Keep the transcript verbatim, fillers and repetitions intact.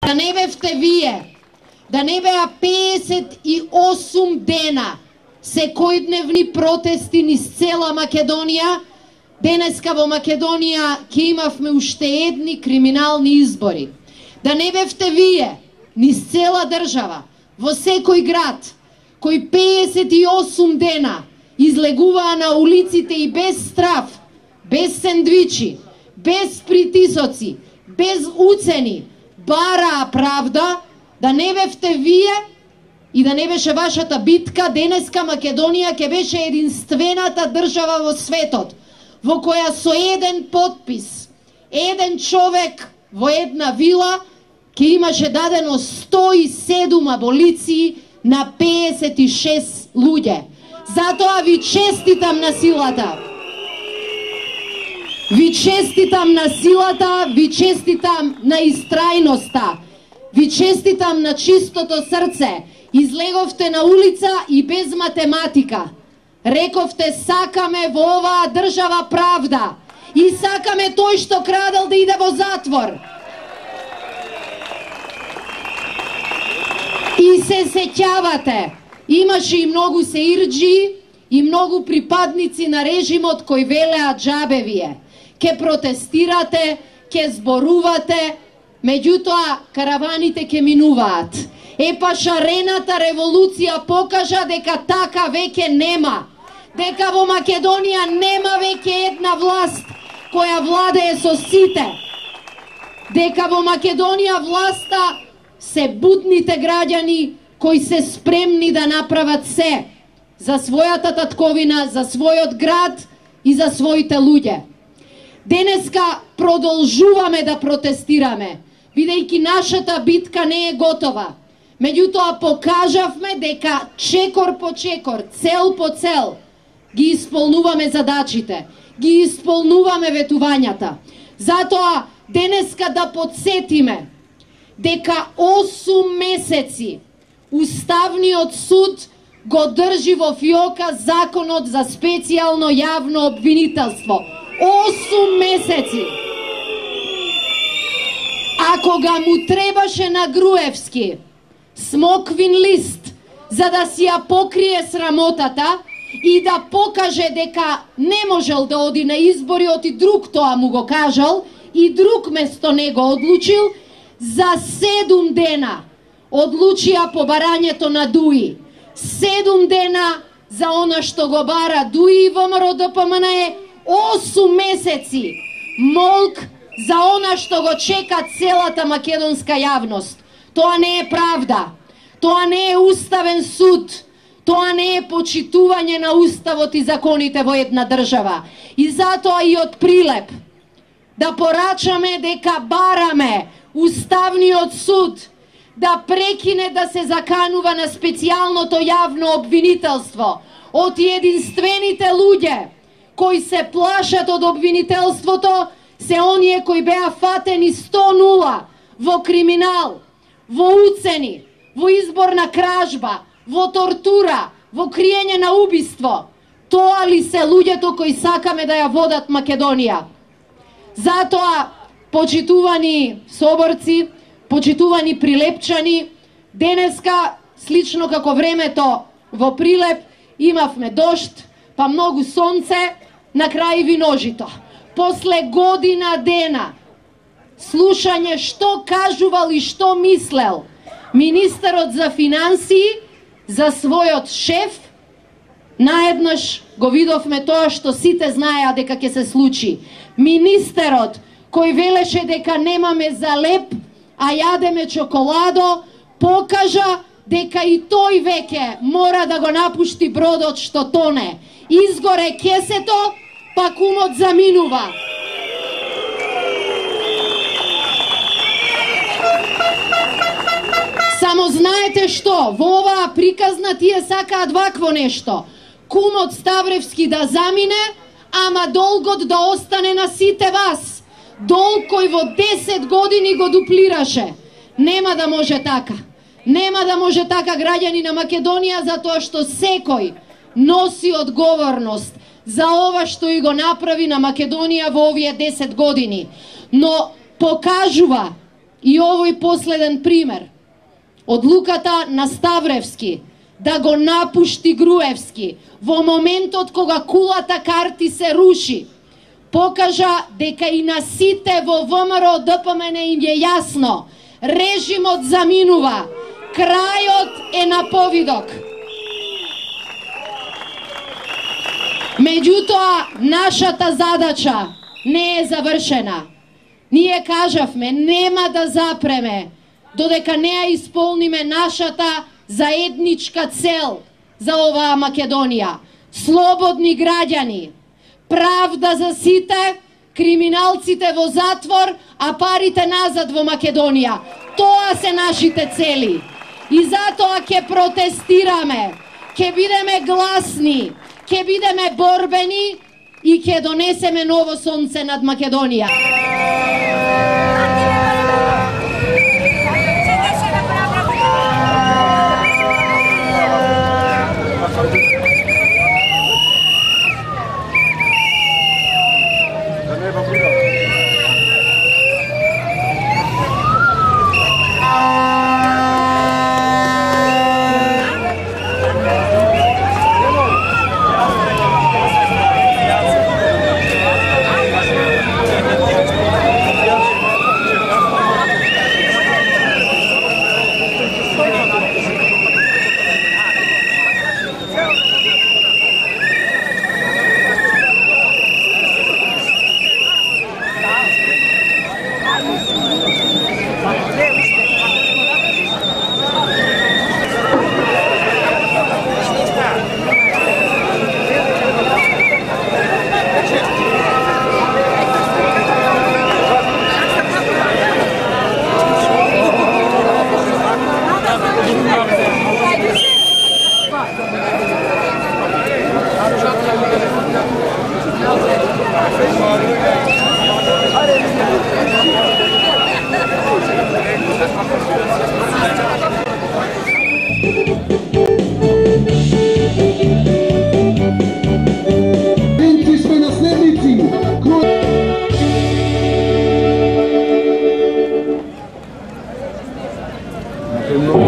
Да не бевте вие, да не беа песет и осум дена секојдневни протести низ цела Македонија, денеска во Македонија ќе имавме уште едни криминални избори. Да не бевте вие низ цела држава, во секој град, кој песет и осум дена излегуваа на улиците и без страф, без сендвичи, без притисоци, без уцени, бараа правда, да не бевте вие и да не беше вашата битка, денеска Македонија ќе беше единствената држава во светот, во која со еден подпис, еден човек во една вила, ќе имаше дадено сто и седум аболиции на песет и шест луѓе. Затоа ви честитам на силата. Ви честитам на силата, ви честитам на истрајноста, ви честитам на чистото срце. Излеговте на улица и без математика. Рековте сакаме во оваа држава правда и сакаме тој што крадел да иде во затвор. И се сеќавате, имаше и многу сеирџи и многу припадници на режимот кои велеа џабе вие. Ке протестирате, ке зборувате, меѓутоа караваните ке минуваат. Епа шарената револуција покажа дека така веќе нема. Дека во Македонија нема веќе една власт која владее со сите. Дека во Македонија власта се будните граѓани кои се спремни да направат се за својата татковина, за својот град и за своите луѓе. Денеска продолжуваме да протестираме, бидејќи нашата битка не е готова. Меѓутоа покажавме дека чекор по чекор, цел по цел, ги исполнуваме задачите, ги исполнуваме ветувањата. Затоа денеска да подсетиме дека осум месеци Уставниот суд го држи во фиока законот за специјално јавно обвинителство. осум месеци. А кога му требаше на Груевски смоквин лист за да си ја покрие срамотата и да покаже дека не можел да оди на избори, оти друг тоа му го кажал и друг место него одлучил, за седум дена одлучија по барањето на ДУИ. Седум дена за она што го бара ДУИ и ВМРО Д П М Н Е, осум месеци молк за она што го чека целата македонска јавност. Тоа не е правда, тоа не е уставен суд, тоа не е почитување на уставот и законите во една држава. И затоа и од Прилеп да порачаме дека бараме Уставниот суд да прекине да се заканува на специјалното јавно обвинителство од единствените луѓе кои се плашат од обвинителството, се оние кои беа фатени сто нула во криминал, во уцени, во изборна кражба, во тортура, во криење на убиство. Тоа ли се луѓето кои сакаме да ја водат Македонија? Затоа, почитувани соборци, почитувани прилепчани, денеска, слично како времето во Прилеп, имавме дожд, па многу сонце, на крај виножито. После година дена, слушање што кажувал и што мислел министерот за финансии за својот шеф, наеднаш го видовме тоа што сите знаеа дека ќе се случи. Министерот кој велеше дека немаме за леп, а јадеме чоколадо, покажа дека и тој веќе мора да го напушти бродот што тоне. Изгоре кесето, па кумот заминува. Само знаете што, во оваа приказна тие сакаат вакво нешто. Кумот Ставревски да замине, ама долгот да остане на сите вас. Долг кој во десет години го дуплираше. Нема да може така. Нема да може така, граѓани на Македонија, затоа што секој носи одговорност за ова што и го направи на Македонија во овие десет години. Но покажува И овој последен пример. Одлуката на Ставревски да го напушти Груевски во моментот кога кулата карти се руши, покажа дека и на сите во ВМРО Д П М Н им е јасно. Режимот заминува. Крајот е на повидок. Меѓутоа, нашата задача не е завршена. Ние кажавме, нема да запреме додека не ја исполниме нашата заедничка цел за оваа Македонија. Слободни граѓани, правда за сите, криминалците во затвор, а парите назад во Македонија. Тоа се нашите цели. И затоа ќе протестираме, ќе бидеме гласни, ќе бидеме борбени и ќе донесеме ново сонце над Македонија. Hello.